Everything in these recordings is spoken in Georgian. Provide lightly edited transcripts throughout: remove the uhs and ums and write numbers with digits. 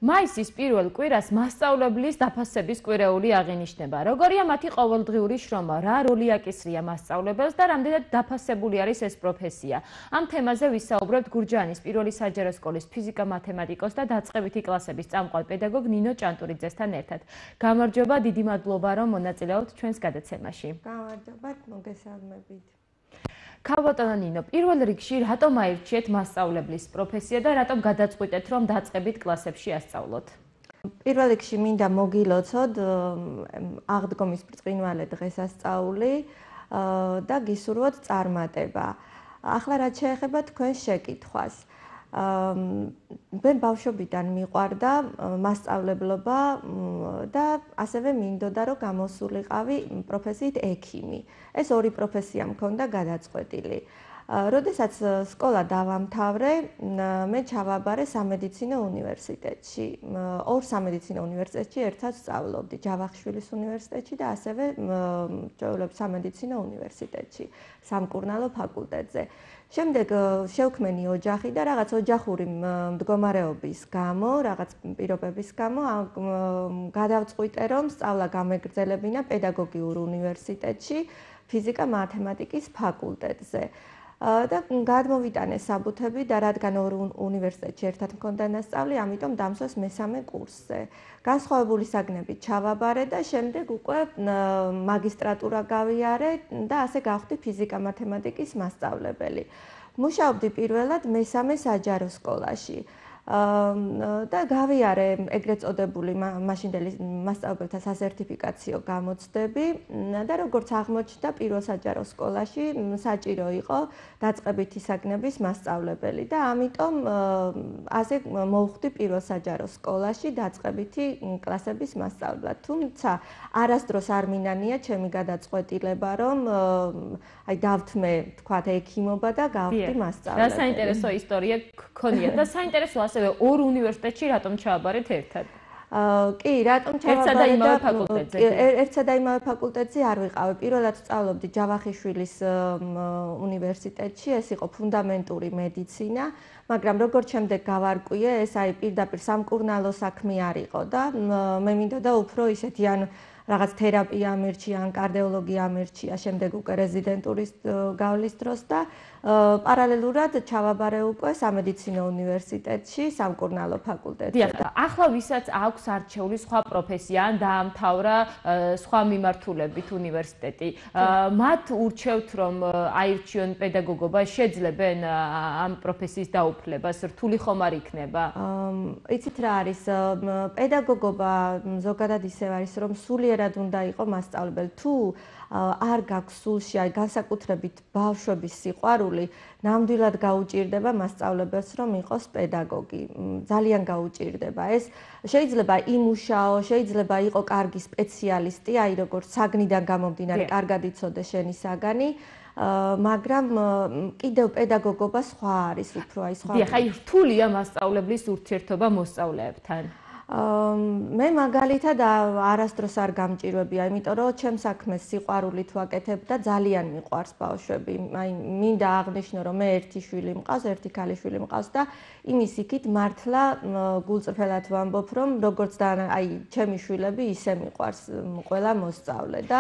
მაისის პირველ კვირას მასწავლებლის დაფასების კვირეული აღინიშნება. Როგორია მათი ყოველდღიური შრომა, რა როლი აკისრია მასწავლებელს და რამდენად დაფასებული არის ეს პროფესია. Ამ თემაზე ვისაუბრებთ გურჯაანის პირველი საჯარო სკოლის ფიზიკა-მათემატიკოს და დაწყებითი კლასების წამყვან პედაგოგ ნინო ჭანტურიძესთან ერთად. გამარჯობა, დიდი მადლობა, რომ მონაწილეობთ ჩვენს გადაცემაში. გამარჯობა, მოგესალმებით. ქალბატონო ნინო, პირველ რიგში რატომ აირჩიეთ მასწავლებლის პროფესია და რატომ გადაწყვიტეთ, რომ დაწყებით კლასებში ასწავლოთ? პირველ რიგში მინდა მოგილოცოთ აღდგომის ბრწყინვალე დღესასწაული და გისურვოთ წარმატება. ახლა რაც შეეხება თქვენს შეკითხვას. მე ბავშვობიდან მიყვარდა მასწავლებლობა და ასევე მინდოდა რომ გამოსულიყავი პროფესიით ექიმი. ეს ორი პროფესია მქონდა გადაწყვეტილი. როდესაც სკოლა დავამთავრე, მე ჩავაბარე სამედიცინო უნივერსიტეტში. ორ სამედიცინო უნივერსიტეტში ერთად სწავლობდი, ჯავახიშვილის უნივერსიტეტში და ასევე სამედიცინო უნივერსიტეტში, სამკურნალო ფაკულტეტზე. შემდეგ შევქმენი ოჯახი და რაღაც ოჯახური მდგომარეობის გამო, რაღაც პირობების გამო გადავწყვიტე, რომ სწავლა გამეგრძელებინა პედაგოგიურ უნივერსიტეტში, ფიზიკა-მათემატიკის ფაკულტეტზე. და გადმოვიტანე საბუთები და რადგან ორ უნივერსიტეტში ერთად მქონდა ნასწავლი, ამიტომ დამსვეს მესამე კურსზე. განსხვავებული საგნებით ჩავაბარე და შემდეგ უკვე მაგისტრატურა გავიარე და ასე გავხდი ფიზიკა-მათემატიკის მასწავლებელი. მუშაობდი პირველად მესამე საჯარო სკოლაში. და გავიარე ეგრეთ წოდებული მაშინდელი მასწავლებელთა სასერტიფიკაციო გამოცდები და როგორც აღმოჩნდა პირველ საჯარო სკოლაში საჭირო იყო დაწყებითი საგნების მასწავლებელი და ამიტომ ასე მოვხვდი პირველ საჯარო სკოლაში დაწყებითი კლასების მასწავლებლად. თუმცა არასდროს არ მინანია ჩემი გადაწყვეტილება, რომ აი დავთმე თქვათ ექიმობა და გავხდი მასწავლებელი. რა საინტერესო ისტორია გქონია და საინტერესო ასევე ორ უნივერსიტეტში რატომ ჩააბარეთ ერთად? კი, რატომ ჩავაბარე ერთსა და იმავე ფაკულტეტზე არ ვიყავი. პირველად სწავლობდი ჯავახიშვილის უნივერსიტეტში, ეს იყო ფუნდამენტური მედიცინა, მაგრამ როგორც შემდეგ გავარკვიე, ეს აი პირდაპირ სამკურნალო საქმე არ იყო და მე მინდოდა უფრო ისეთი ან რაღაც თერაპია ამირჩია, ან კარდიოლოგია ამირჩია, შემდეგ უკვე რეზიდენტურის გავლის დროს და პარალელურად ჩავაბარე უკვე სამედიცინო უნივერსიტეტში, სამკურნალო ფაკულტეტზე. დიახ, ახლა ვისაც აქვს არჩეული სხვა პროფესია, ან დაამთავრა სხვა მიმართულებით უნივერსიტეტი, მათ ურჩევთ, რომ აირჩიონ პედაგოგობა, შეძლებენ ამ პროფესიის დაუფლებას, რთული ხომ არ იქნება? იცით რა არის, პედაგოგობა ზოგადად ისევ არის, რომ სულიერად უნდა იყო მასწავლებელი. თუ არ გაქვს სულში, აი განსაკუთრებით ბავშვების სიყვარული, ნამდვილად გაუჭირდება მასწავლებელს, რომ იყოს პედაგოგი. ძალიან გაუჭირდება. ეს შეიძლება იმუშაო, შეიძლება იყო კარგი სპეციალისტი, აი როგორც საგნიდან გამომდინარე, კარგად იცოდე შენი საგანი, მაგრამ კიდევ პედაგოგობა სხვა არის, უფრო აი სხვა. დიახ, აი რთულია მასწავლებლის ურთიერთობა მოსწავლეებთან. მე მაგალითად არასდროს არ გამჭირვებია, იმიტომ რომ ჩემ საქმეს სიყვარულით ვაკეთებ და ძალიან მიყვარს ბავშვები. აი მინდა აღნიშნო, რომ მე ერთი შვილი მყავს, ერთი ქალიშვილი მყავს და იმის იქით მართლა გულწრფელად ვამბობ, რომ როგორც და აი ჩემი შვილები ისე მიყვარს ყველა მოსწავლე და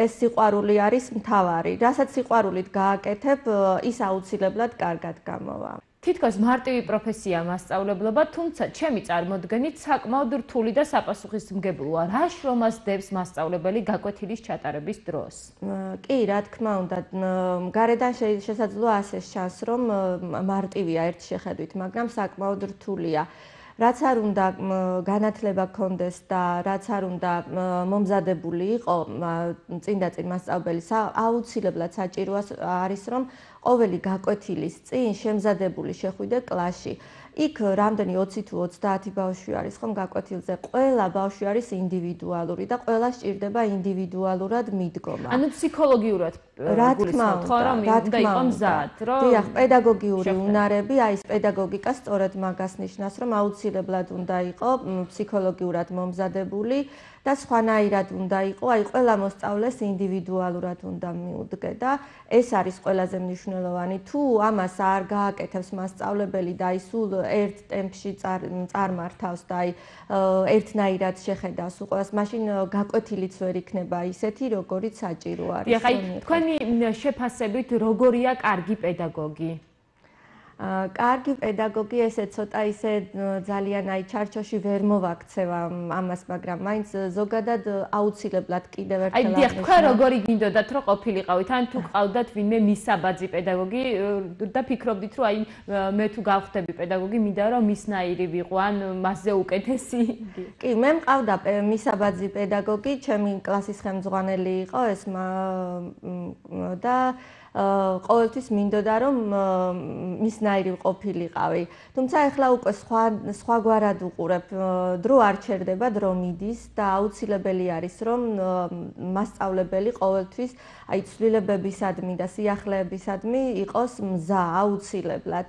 ეს სიყვარული არის მთავარი. რასაც სიყვარულით გააკეთებ, ის აუცილებლად კარგად გამოვა. თითქოს მარტივი პროფესია მასწავლებლობა, თუმცა ჩემი წარმოდგენით საკმაოდ რთული და საპასუხისმგებლოა. რა შრომას დებს მასწავლებელი გაკვეთილის ჩატარების დროს? კი, რა თქმა უნდა, გარედან შესაძლოა ასე ჩანს, რომ მარტივია ერთ შეხედვით, მაგრამ საკმაოდ რთულია. რაც არ უნდა განათლება გქონდეს და რაც არ უნდა მომზადებული იყო წინდაწინ მასწავლებელი, აუცილებლად საჭირო არის, რომ ყოველი გაკვეთილის წინ შემზადებული შეხვიდე კლასში. იქ რამდენი 20 თუ 30 ბავშვი არის ხომ გაკვეთილზე, ყველა ბავშვი არის ინდივიდუალური და ყველა სჭირდება ინდივიდუალურად მიდგომა. ანუ ფსიქოლოგიურად გულისხმობთ, ხო, რომ უნდა იყო მზად, რომ დიახ, პედაგოგიური უნარები, აი ეს პედაგოგიკა სწორედ მაგას ნიშნავს, რომ აუცილებლად უნდა იყო ფსიქოლოგიურად მომზადებული და სხვანაირად უნდა იყო, აი ყველა მოსწავლეს ინდივიდუალურად უნდა მიუდგე და ეს არის ყველაზე მნიშვნელოვანი. თუ ამას არ გააკეთებს მასწავლებელი და აი სულ ერთ ტემპში წარმართავს და აი ერთნაირად შეხედავს უყურს, მაშინ გაკვეთილიც ვერ იქნება ისეთი, როგორიც საჭირო არის. დიახ, აი თქვენი შეფასებით როგორია კარგი პედაგოგი? კარგი პედაგოგი ესე ცოტა ისე ძალიან აი ჩარჩოში ვერ მოვაქცევა ამას, მაგრამ მაინც ზოგადად აუცილებლად კიდევ ერთხელ აი დიახ, თქვენ როგორი გინდოდათ რომ ყოფილიყავით, ან თუ ყავდათ ვინმე მისაბაძი პედაგოგი და ფიქრობდით რომ აი მე თუ გავხდები პედაგოგი, მინდა რომ მისნაირი ვიყო, ან მასზე უკეთესი? კი, მე მყავდა მისაბაძი პედაგოგი, ჩემი კლასის ხელმძღვანელი იყო ეს და ყოველთვის მინდოდა რომ მისნაირი ყოფილიყავი. თუმცა ახლა უკვე სხვაგვარად უყურებ, დრო არ ჩერდება, დრო მიდის და აუცილებელი არის რომ მასწავლებელი ყოველთვის აი ცვლილებებისადმი და სიახლეებისადმი იყოს მზა აუცილებლად.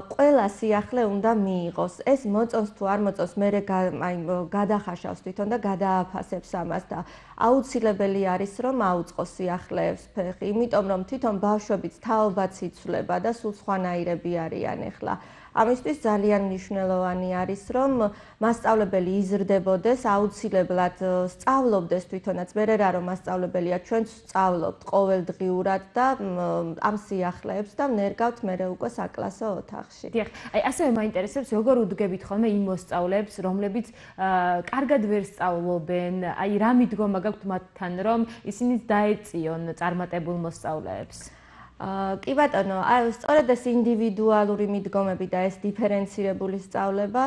ყველა სიახლე უნდა მიიღოს. ეს მოწონს თუ არ მოწონს, მე აი გადახაშავს თვითონ და გადააფასებს ამას და აუცილებელი არის რომ აუწყოს სიახლეებს ფეხი, იმიტომ რომ თვითონ ბავშვებიც თაობაც იცვლება და სულ სხვანაირები არიან ახლა. ამისთვის ძალიან მნიშვნელოვანი არის რომ მასწავლებელი იზრდებოდეს, აუცილებლად სწავლობდეს თვითონაც, მე რა რომ მასწავლებელია, ჩვენც სწავლობთ ყოველდღიურად და ამ სიახლეებს და ვნერგავთ მე უკვე საკლასო ოთახში. დიახ, აი ასევე მაინტერესებს როგორ უდგებით ხოლმე იმ მოსწავლეებს, რომლებიც კარგად ვერ სწავლობენ, აი რა მიდგომა გაქვთ მათთან, რომ ისინი დაეწიონ წარმატებულ მოსწავლეებს? კი ბატონო, აი სწორედ ეს ინდივიდუალური მიდგომები და ეს დიფერენცირებული სწავლება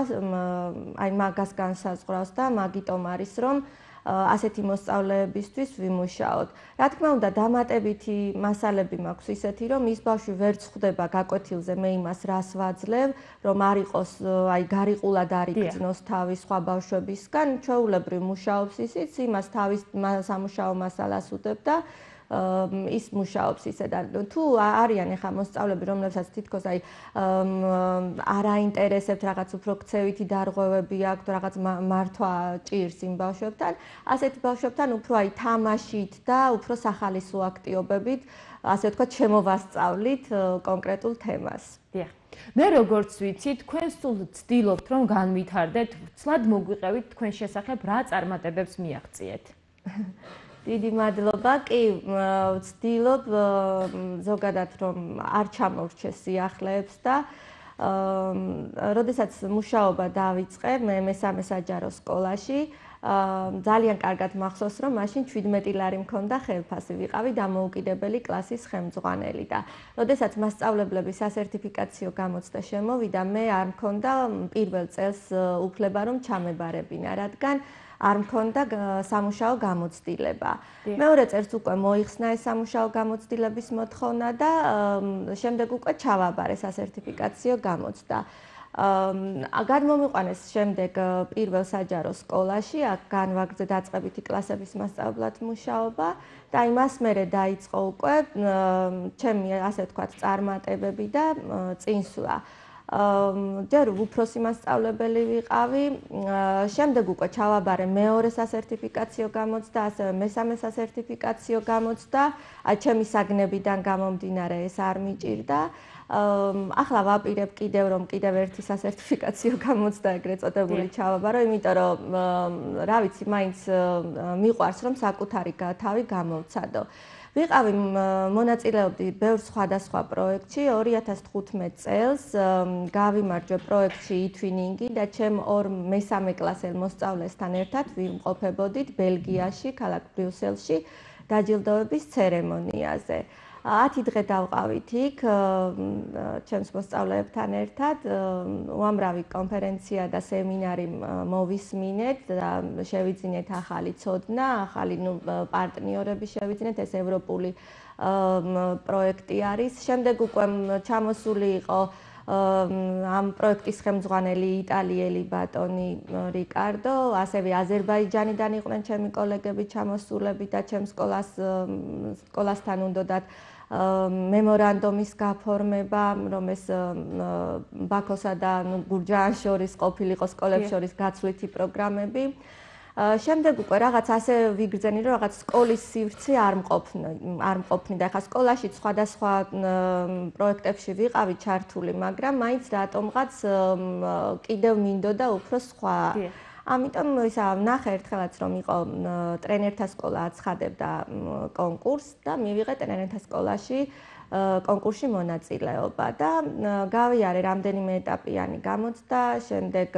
აი მაგას განსაზღვრავს და მაგიტომ არის რომ ასეთი მოსწავლეებისთვის ვიმუშაოთ. რა თქმა უნდა, დამატებითი მასალები მაქვს ისეთი, რომ ის ბავშვი ვერ წხვდება გაკვეთილზე, მე იმას რას ვაძლევ, რომ არ იყოს აი გარიყულად არ იგრძნოს თავი სხვა ბავშვებისგან, ჩვეულებრივ მუშაობს ისიც, იმას თავის სამუშაო მასალას უდებ და ის მუშაობს ისე და თუ არიან ახლა მოსწავლეები, რომლებსაც თითქოს აი არ აინტერესებთ რაღაც უფრო ქცევითი დარღვევები აქვთ, რაღაც მართვა ჭირს იმ ბავშვებთან, ასეთ ბავშვებთან უფრო აი თამაშით და უფრო სახალისო აქტიობებით, ასე ვთქვათ, შემოვასწავლით კონკრეტულ თემას. დიახ. მე როგორც ვიცი, თქვენ სულ ცდილობთ რომ განვითარდეთ, ცლად მოგვიყევით თქვენ შესახებ რა წარმატებებს მიაღწიეთ? დიდი მადლობა. კი, ვცდილობ ზოგადად რომ არ ჩამოვრჩე სიახლეებს და როდესაც მუშაობა დავიწყე მე მესამე საჯარო სკოლაში, ძალიან კარგად მახსოვს რომ მაშინ 17 ლარი მქონდა ხელფასი, ვიყავი დამოუკიდებელი კლასის ხელმძღვანელი და როდესაც მასწავლებლების სასერტიფიკაციო გამოცდა შემოვიდა, მე არ მქონდა პირველ წელს უფლება რომ ჩამებარებინა, რადგან არ მქონდა სამუშაო გამოცდილება. მეორე წელს უკვე მოიხსნა ეს სამუშაო გამოცდილების მოთხოვნა და შემდეგ უკვე ჩავაბარე სასერტიფიკაციო გამოცდა. გადმომიყვანეს შემდეგ პირველ საჯარო სკოლაში, აქ განვაგრძე დაწყებითი კლასების მასწავლებლად მუშაობა და იმას მერე დაიწყო უკვე ჩემი ასე ვთქვათ წარმატებები და წინსვლა. ჯერ უფროსი მასწავლებელი ვიყავი, შემდეგ უკვე ჩავაბარე მეორე სასერტიფიკაციო გამოცდა, ასევე მესამე სასერტიფიკაციო გამოცდა, ჩემი საგნებიდან გამომდინარე ეს არ მიჭირდა. ახლა ვაპირებ კიდევ რომ კიდევ ერთი სასერტიფიკაციო გამოცდა ეგრეთ წოდებული ჩავაბარო, იმიტომ რომ რა ვიცი, მაინც მიყვარს რომ საკუთარი თავი გამოვცადო. ვიყავი მონაწილეობდი ბევრ სხვადასხვა პროექტში 2015 წელს გავიმარჯვე პროექტში ითვინინგი და ჩემ ორ მესამე კლასელ მოსწავლესთან ერთად ვიმყოფებოდით ბელგიაში, ქალაქ ბრიუსელში დაჯილდოების ცერემონიაზე. 10 დღე დავყავით იქ ჩემს მოსწავლეებთან ერთად, უამრავი კონფერენცია და სემინარი მოვისმინეთ და შევიძინეთ ახალი ცოდნა, ახალი პარტნიორები შევიძინეთ, ეს ევროპული პროექტი არის. შემდეგ უკვე ჩამოსული იყო ამ პროექტის ხელმძღვანელი იტალიელი ბატონი რიკარდო, ასევე აზერბაიჯანიდან იყვნენ ჩემი კოლეგები ჩამოსულები და ჩემ სკოლასთან უნდათ მემორანდუმის გაფორმება, რომ ეს ბაქოსა და გურჯაანს შორის ყოფილიყო სკოლებს შორის გაცვლითი პროგრამები. შემდეგ უკვე რაღაც ასე ვიგრძენი, რომ რაღაც სკოლის სივრცე არ მყოფნი და ახლა სკოლაში სხვადასხვა პროექტებში ვიყავი ჩართული, მაგრამ მაინც რატომღაც კიდევ მინდოდა უფრო სხვა. ამიტომ ისა ნახე ერთხელაც რომ იყო ტრენერთა სკოლა აცხადებდა კონკურსს და მივიღე ტრენერთა სკოლაში კონკურსში მონაწილეობა და გავიარე რამდენიმე ეტაპიანი გამოცდა, შემდეგ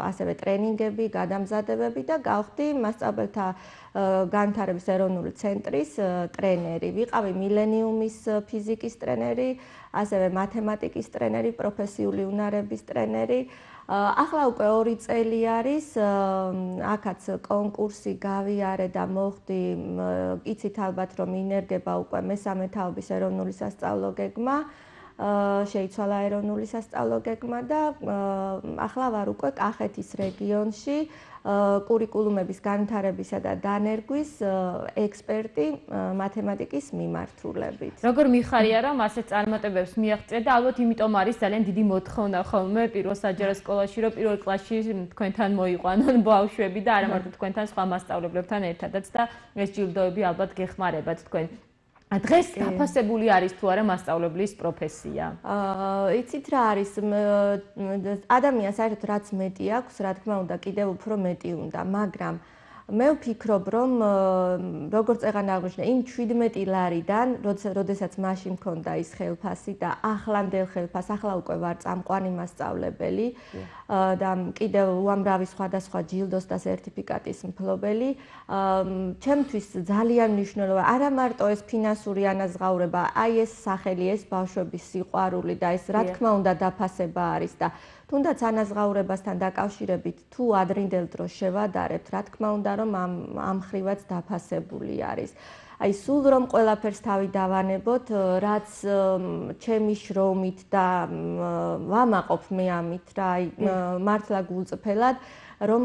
ასევე ტრენინგები, გადამზადებები და გავხდი მასწავლებელთა განვითარების ეროვნული ცენტრის ტრენერი. ვიყავი მილენიუმის ფიზიკის ტრენერი, ასევე მათემატიკის ტრენერი, პროფესიული უნარების ტრენერი. ახლა უკვე 2 წელი არის, აქაც კონკურსი გავიარე და მოხდი, იცით ალბათ რომ ინერგება უკვე მესამე თაობის ეროვნული სასწავლო გეგმა, შეიცვალა ეროვნული სასწავლო გეგმა და ახლა ვარ უკვე კახეთის რეგიონში კურიკულუმების განვითარებისა და დანერგვის ექსპერტი მათემატიკის მიმართულებით. როგორ მიხარია რომ ასეთ წარმატებებს მიაღწიეთ და ალბათ იმიტომ არის ძალიან დიდი მოთხოვნა ხოლმე პირველ საჯარო სკოლაში რომ პირველ კლასში თქვენთან მოიყვანონ ბავშვები და არა მარტო თქვენთან სხვა მასწავლებლებთან ერთადაც და ეს ჯილდოები ალბათ გეხმარებათ თქვენ. დღეს დაფასებული არის თუ არა მასწავლებლის პროფესია? იცით რა არის, ადამიანს საერთოდ რაც მეტი აქვს, რა თქმა უნდა, კიდევ უფრო მეტი უნდა, მაგრამ მე ვფიქრობ, რომ როგორც ეგან აღნიშნე, იმ 17 ლარიდან, როდესაც მაშინ მქონდა ის ხელფასი და ახლანდელ ხელფას, ახლა უკვე ვარ წამყვანი მასწავლებელი და კიდევ უამრავი სხვადასხვა ჯილდოს და სერტიფიკატის მფლობელი. ჩემთვის ძალიან მნიშვნელოვანია არა მარტო ეს ფინანსური ანაზღაურება, აი ეს სახელი, ეს ბავშვების სიყვარული და ეს რა თქმა უნდა დაფასება არის და თუნდაც ანაზღაურებასთან დაკავშირებით თუ ადრინდელ დროს შევადარებთ, რა თქმა უნდა რომ ამ ხრივაც დაფასებული არის. აი სულ რომ ყველაფერს თავი დავანებოთ, რაც ჩემი შრომით და ვამაყობ მე ამით რა, აი მართლა გულწრფელად რომ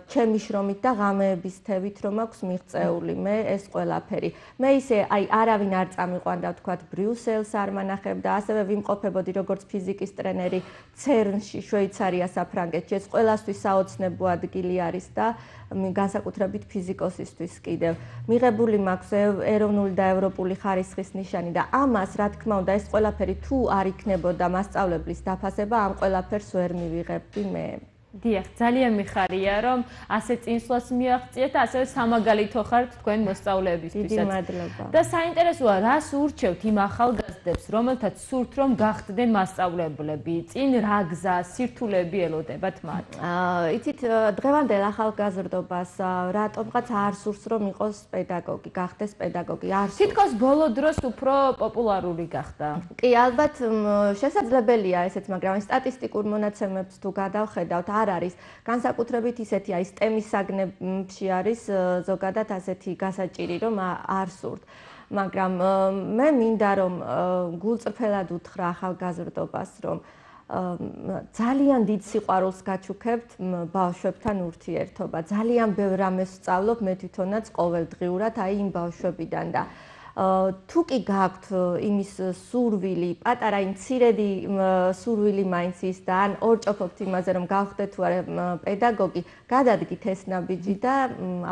ჩემი შრომით და ღამეების თევით რომ აქვს მიღწეული მე ეს ყველაფერი. მე ისე აი არავინ არ წამიყვანდა ვთქვათ ბრიუსელს არ მანახებდა, ასევე ვიმყოფებოდი როგორც ფიზიკის ტრენერი ცერნში, შვეიცარია საფრანგეთში. ეს ყველასთვის საოცნებო ადგილი არის და განსაკუთრებით ფიზიკოსისთვის კიდევ. მიღებული მაქვს ეროვნული და ევროპული ხარისხის ნიშანი და ამას რა თქმა უნდა ეს ყველაფერი თუ არ იქნებოდა მასწავლებლის დაფასება, ამ ყველაფერს ვერ მივიღებდი მე. დიახ, ძალიან მიხარია რომ ასე წინსვლას მიაღწიეთ და ასევე სამაგალითო ხართ თქვენ მოსწავლეებისთვისაც. დიდი მადლობა. და საინტერესოა, რას ურჩევთ იმ ახალგაზრდებს, რომელთაც სურთ რომ გახდნენ მასწავლებლები, წინ რა გზა, სირთულეები ელოდებათ მათ? იცით, დღევანდელ ახალგაზრდობას რატომღაც არ სურს რომ იყოს პედაგოგი, გახდეს პედაგოგი, არ სურს. თითქოს ბოლო დროს უფრო პოპულარული გახდა. კი, ალბათ შესაძლებელია ესეც, მაგრამ სტატისტიკურ მონაცემებს თუ გადავხედავთ, არ არის განსაკუთრებით ისეთი აი STEM-ის საგნებში არის ზოგადად ასეთი გასაჭირი რომ არ სურთ. მაგრამ მე მინდა რომ გულწრფელად უთხრა ახალგაზრდობას რომ ძალიან დიდ სიყვარულს გაჩუქებთ ბავშვებთან ურთიერთობა. ძალიან ბევრ რამეს ვსწავლობ მე თვითონაც ყოველდღიურად აი იმ ბავშვებიდან და თუ კი გაქვთ იმის სურვილი, პატარა იმ მცირედი სურვილი მაინც ის და ან ორჭოფობთ იმაზე რომ გავხდეთ თუ არა პედაგოგი, გადადგით ეს ნაბიჯი და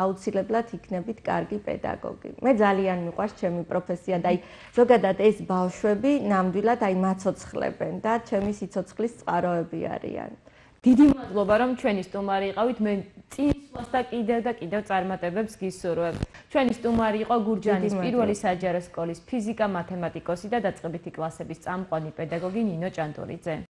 აუცილებლად იქნებით კარგი პედაგოგი. მე ძალიან მიყვარს ჩემი პროფესია და აი ზოგადად ეს ბავშვები ნამდვილად აი მაცოცხლებენ და ჩემი სიცოცხლის წყაროები არიან. დიდი მადლობა რომ ჩვენი სტუმარი იყავით. მე წინსვლას და კიდევ წარმატებებს გისურვებ. ჩვენი სტუმარი იყო გურჯაანის პირველი საჯარო სკოლის ფიზიკა-მათემატიკოსი და დაწყებითი კლასების წამყვანი პედაგოგი ნინო ჭანტურიძე.